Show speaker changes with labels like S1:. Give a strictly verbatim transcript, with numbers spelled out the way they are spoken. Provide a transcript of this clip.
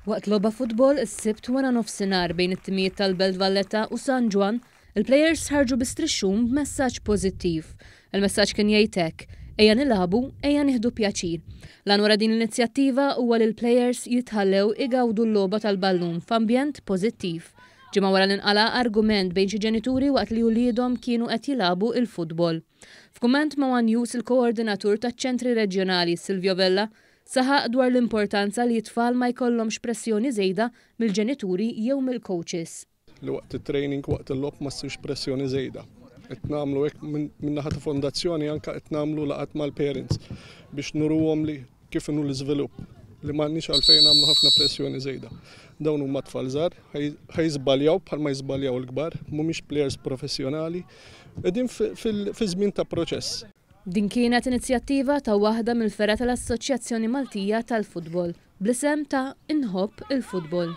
S1: Waqt logħba futbol is-Sibt wara nofsinhar bejn it-timijiet tal-Belt Valletta u San Ġwann, il-plejers ħarġu bi strixxun b'messaġġ pożittiv. Il-messaġġ kien jgħid hekk: "Ejja nilagħbu, ejja nieħdu pjaċir." L-għan wara din l-inizjattiva huwa li l-plejers jitħallew igawdu l-logħba tal-ballun f'ambjent pożittiv. Ġimgħa wara li nqala' argument bejn xi ġenituri waqt li uliedhom kienu qed jilagħbu il-futbol. F'kumment ma' One News, il-koordinatur taċ-ċentri reġjonali, Silvio Vella, saħaq dwar l-importanza li t-tfal ma jkollhomx pressjoni żejda mill-ġenituri jew mill-coaches.
S2: Li waqt it-training, waqt il-logħob ma ssirx pressjoni żejda. Qed nagħmlu hekk min-naħa ta' fondazzjoni, anke qed nagħmlu laqgħat mal-parents biex nuruhom li kif inhu l-iżvilupp, li m'għandniex għalfejn nagħmlu ħafna pressjoni żejda. Dawn huma tfal żgħar, ħa jiżbaljaw bħalma jiżbaljaw il-kbar, mhumiex players professjonali, qegħdin fi żmien ta' proċess.
S1: Din kienet inizjattiva ta' waħda mill-fergħa tal-Assoċjazzjoni Maltija tal-Futbol bl-isem ta' Inħobb il-Futbol.